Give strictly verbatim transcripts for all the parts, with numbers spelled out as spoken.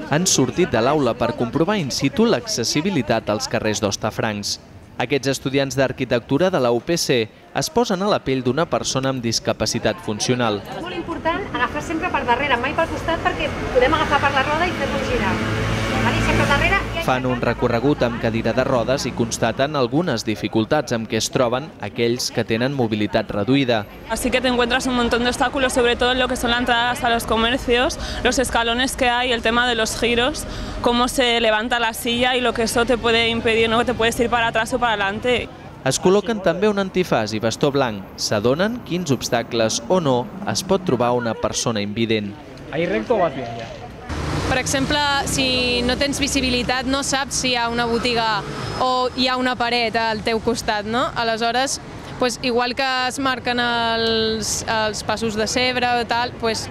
han sortit de l'aula per comprovar in situ l'accessibilitat als carrers d'Hostafrancs. Aquests estudiants d'arquitectura de la U P C es posen a la pell d'una persona amb discapacitat funcional. És molt important agafar sempre per darrere, mai pel costat, perquè podem agafar per la roda i fer-nos girar. Sempre darrere. Fan un recorregut amb cadira de rodes i constaten algunes dificultats amb què es troben aquells que tenen mobilitat reduïda. Así que te encuentras un montón de obstáculos, sobre todo en lo que son las entradas a los comercios, los escalones que hay, el tema de los giros, cómo se levanta la silla y lo que eso te puede impedir, ¿no? Que te puedes ir para atrás o para adelante. Es col·loquen també un antifàs i bastó blanc. S'adonen quins obstacles o no es pot trobar una persona invident. ¿Ahí recto o vas bien ya? Per exemple, si no tens visibilitat, no saps si hi ha una botiga o hi ha una paret al teu costat, no? Aleshores, pues, igual que es marquen els, els passos de cebre o tal, pues,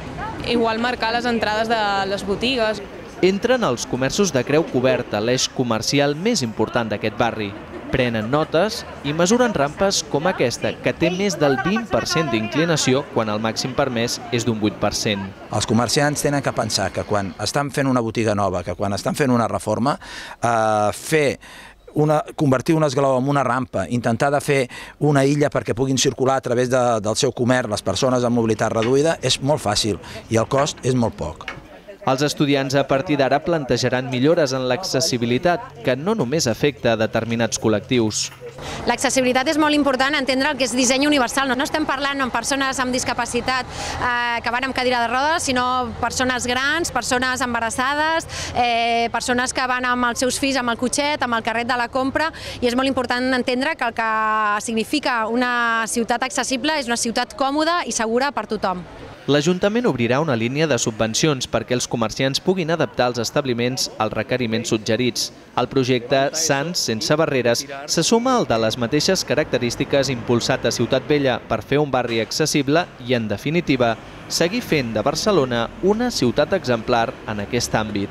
igual marcar les entrades de les botigues. Entren als comerços de Creu Coberta, l'eix comercial més important d'aquest barri. Prenen notes i mesuren rampes com aquesta, que té més del vint per cent d'inclinació quan el màxim permès és d'un vuit per cent. Els comerciants tenen que pensar que quan estan fent una botiga nova, que quan estan fent una reforma, eh, fer Una, convertir un esglaó en una rampa, intentar de fer una illa perquè puguin circular a través de, del seu comerç les persones amb mobilitat reduïda és molt fàcil i el cost és molt poc. Els estudiants a partir d'ara plantejaran millores en l'accessibilitat, que no només afecta a determinats col·lectius. L'accessibilitat és molt important, entendre el que és disseny universal. No estem parlant amb persones amb discapacitat eh, que van amb cadira de rodes, sinó persones grans, persones embarassades, eh, persones que van amb els seus fills amb el cotxet, amb el carret de la compra, i és molt important entendre que el que significa una ciutat accessible és una ciutat còmoda i segura per tothom. L'Ajuntament obrirà una línia de subvencions perquè els comerciants puguin adaptar els establiments als requeriments suggerits. El projecte Sants sense barreres se suma al de les mateixes característiques impulsat a Ciutat Vella per fer un barri accessible i, en definitiva, seguir fent de Barcelona una ciutat exemplar en aquest àmbit.